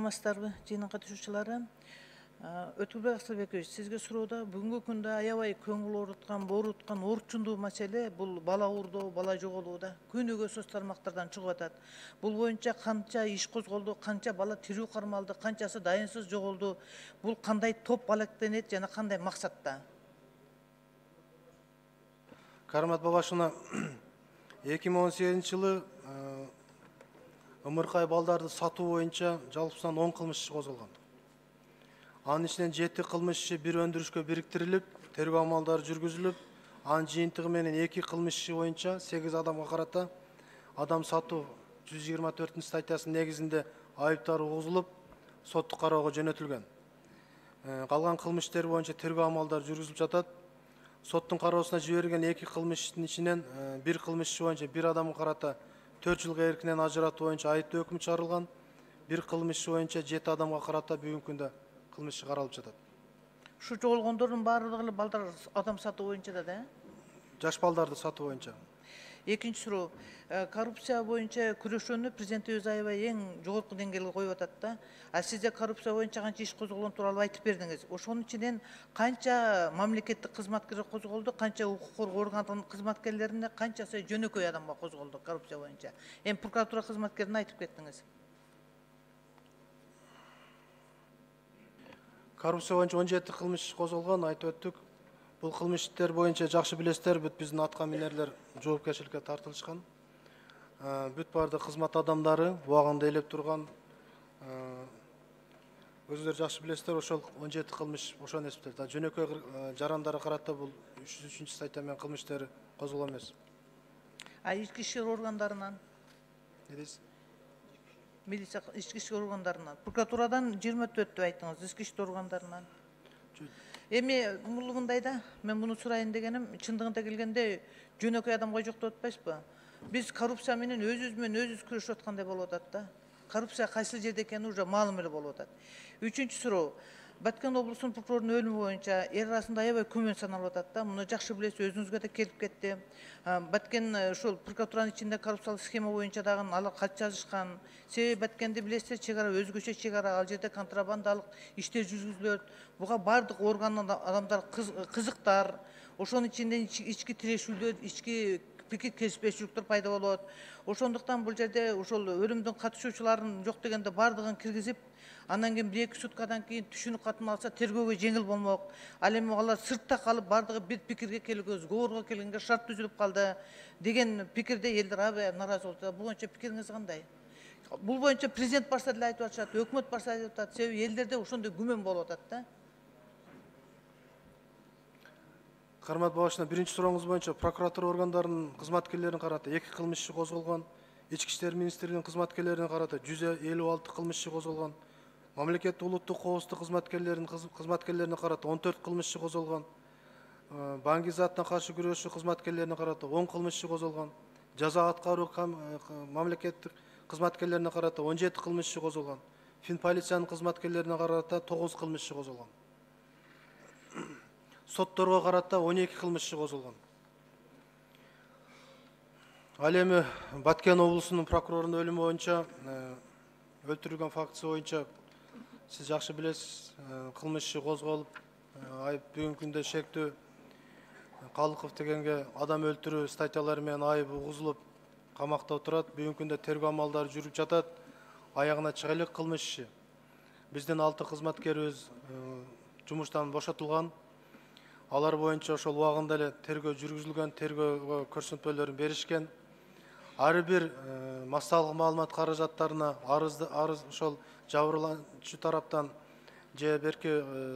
Саламатсыздарбы, жыйын катышуучулары? Өтүлбек Акселбекович, сизге суроода бүгүнкү күндө аябай көңүл ооруткан орчундуу маселе бул бала уурдоо, бала жоголууда күнүгө соц тармактардан чыгып атат. Бул боюнча канча иш козголду, канча бала тирүү кармалды, канчасы дайынсыз жоголду. Бул кандай топ алектенет жана кандай максатта? Кармат Бабашевна, 2018-жылы ымыркай балдарды сатуу боюнча жалпысынан 10 кылмыш иши козголгон. Анын ичинен 7 кылмыш иши бир өндүрүшкө бириктирилип, тергөө амалдары жүргүзүлүп, анын жыйынтыгы менен 2 кылмыш иши боюнча 8 адамга карата адам сатуу 124-статьясынын негизинде айыптар угузулуп, соттук кароого жөнөтүлгөн. Калган кылмыштер боюнча тергөө амалдары жүргүзүлүп жатат. Соттун кароосуна жиберилген 2 кылмыш иштин ичинен бир кылмыш иши боюнча бир адамга карата 4 жылга эркинен ажыратуу боюнча айыптоо өкмү чыгарылган. Бир кылмыш иши боюнча 7 адамга карата бүгүнкү күндө кылмыш иши каралып жатат. Ушу жоголгондордун баардыгы эле балдар адам сатуу боюнча да? Жаш балдарды сатуу боюнча. Экинчи суроо. Коррупция боюнча күрөшүүнү президентибиз аябай эң жогорку деңгээлге коюп атат да. А сизде коррупция боюнча канча иш козголгон тууралуу айтып бердиңиз. Ошонун ичинен канча мамлекеттик кызматкерге козголду, канча укук коргоо органдын кызматкерлерине, канчасы жөнөкөй адамга козголду коррупция боюнча? Эми прокуратура кызматкерине айтып кеттиңиз. Коррупция боюнча 17 кылмыш иш козголгон, айтып өттүк. Бул кылмыштар боюнча жакшы билесиздер, бүт биздин атка минерлер жоопкерчиликке тартылышкан. Бүт баардык кызмат адамдары убагында ээлеп турган. Өзүңөр жакшы билесиздер, ошол 17 кылмыш ошону эсептейт. Жөнөкөй жарандарга карата бул 303-статья менен кылмыш иштери козголгон эмес. Ички иштер органдарынан? Не дейсиз? Милиция ички иштер органдарынан. Прокуратурадан 24 деп айттыңыз, ички иштер органдарынан. Эми мындай да, мен муну сурайын дегеним, чындыгында келгенде жөнөкөй адамга жок деп атпайсызбы? Биз коррупция менен өзүбүз менен өзүбүз күрөшүп аткандай болуп атат да. Коррупция кайсы жерде экени уже маалым эле болуп атат. Үчүнчү суроо. Баткен облусунун прокурорунун өлүмү боюнча эл арасында аябай күмөн саналып атат да. Муну жакшы билесиз, өзүңүзгө да келип кетти. Баткен ушул прокуратуранын ичинде коррупциялык схема боюнча дагы алар кат жазышкан. Себеби Баткенди билесиздер, чек ара өзгөчө чек ара, ал жерде контрабандалык иштер жүргүзүлөт. Буга бардык органдын адамдары кызыктар. Ошонун ичинде ички тирешүүлөр, ички пикир келишпешүүлүктөр пайда болот. Ошондуктан бул жерде ошол өлүмдүн катышуучуларын жок дегенде бардыгын киргизип, андан кийин 1-2 суткадан кийин түшүнүк катын алса тергөөгө жеңил болмок. Ал эми алар сыртта калып бардыгы бир пикирге келүүгө, сговорго келгенге шарт түзүлүп калды деген пикирде элдер аябай нааразы болуп атат. Бул боюнча пикириңиз кандай? Бул боюнча президент барса деле айтып атышат, өкмөт барса айтып атат. Себеби элдерде ошондой күмөн болуп атат да. Кармат Бабашевна, биринчи сурооңуз боюнча прокуратура органдарынын кызматкерлерине карата 2 кылмыш иши козголгон. Ички иштер министрлигинин кызматкерлерине карата 156 кылмыш иши козголгон. Мамлекеттик улуттук коопсуздук кызматкерлерине карата 14 кылмыш иши козголгон. Баңгизаттан каршы күрөшүү кызматкерлерине карата 10 кылмыш иши козголгон. Жаза аткаруу мамлекеттик кызматкерлерине карата 17 кылмыш иши козголгон. Финполициянын кызматкерлерине карата 9 кылмыш иши козголгон. Сотторго карата 12 кылмыш иши козголгон. Ал эми Баткен облусунун прокурорунун өлүмү боюнча өлтүрүлгөн фактысы боюнча сиз жакшы билесиз, кылмыш иши козголуп, айып бүгүнкү күндө шектүү Калыков дегенге адам өлтүрүү статьялары менен айып угузулуп, камакта отурат. Бүгүнкү күндө тергөө амалдары жүрүп жатат. Аягына чыга элек кылмыш иши. Биздин 6 кызматкерибиз жумуштан бошотулган. Алар боюнча ошол убагында эле тергөө жүргүзүлгөн, тергөөгө көрсөтмөлөрүн беришкен. Ар бир массалык маалымат каражаттарына арыз ошол жабырлануучу тараптан же берки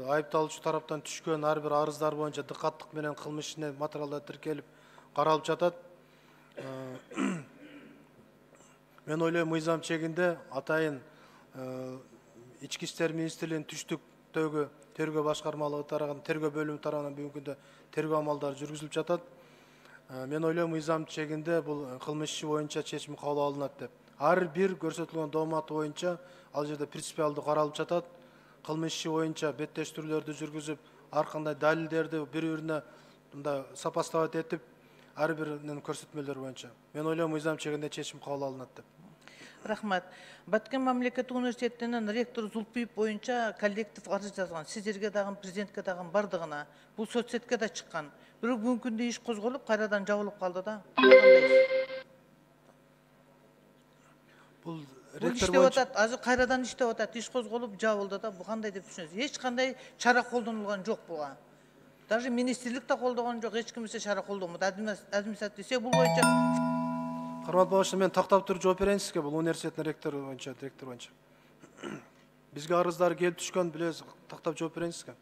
айыпталуучу тараптан түшкөн ар бир арыздар боюнча дыкаттык менен кылмыш ишине материалдар тиркелип каралып жатат. Мен ойлойм, мыйзам чегинде атайын ички иштер министрлигинин түштүктөгү тергөө башкармалыгы тарабынан, тергөө бөлүмү тарабынан бүгүнкү күндө тергөө амалдары жүргүзүлүп жатат. Мен ойлойм, мыйзам чегинде бул кылмыш иши боюнча чечим кабыл алынат деп. Ар бир көрсөтүлгөн дооматы боюнча ал жерде принципиалдуу каралып жатат. Кылмыш иши боюнча беттештирүүлөрдү жүргүзүп, ар кандай далилдерди бири-бирине мындай сопоставить этип, ар биринин көрсөтмөлөрү боюнча. Мен ойлойм, мыйзам чегинде чечим кабыл алынат деп. Рахмат. Баткен мамлекеттик университетинин ректору Зулпиев боюнча коллектив арыз жазган. Сиздерге дагы, президентке дагы бардыгына. Бул соцсетке да чыккан. Бирок бүгүнкү күндө иш козголуп, кайрадан жабылып калды да. Бул Бул ректор иштеп боюнча атат, азыр кайрадан иштеп атат, иш козголуп жабылды да. Бу кандай деп түшүнөсүз? Эч кандай чара колдонулган жок буга. Даже министрлик да колдогон жок, эч кимсе чара колдонбойт. Администрация десе бул боюнча кармат багышы, мен тактап туруп жооп берейин сизге. Бул университеттин ректору боюнча, директор боюнча. Бизге арыздар келип түшкөн, билесиз, тактап жооп берейин сизге.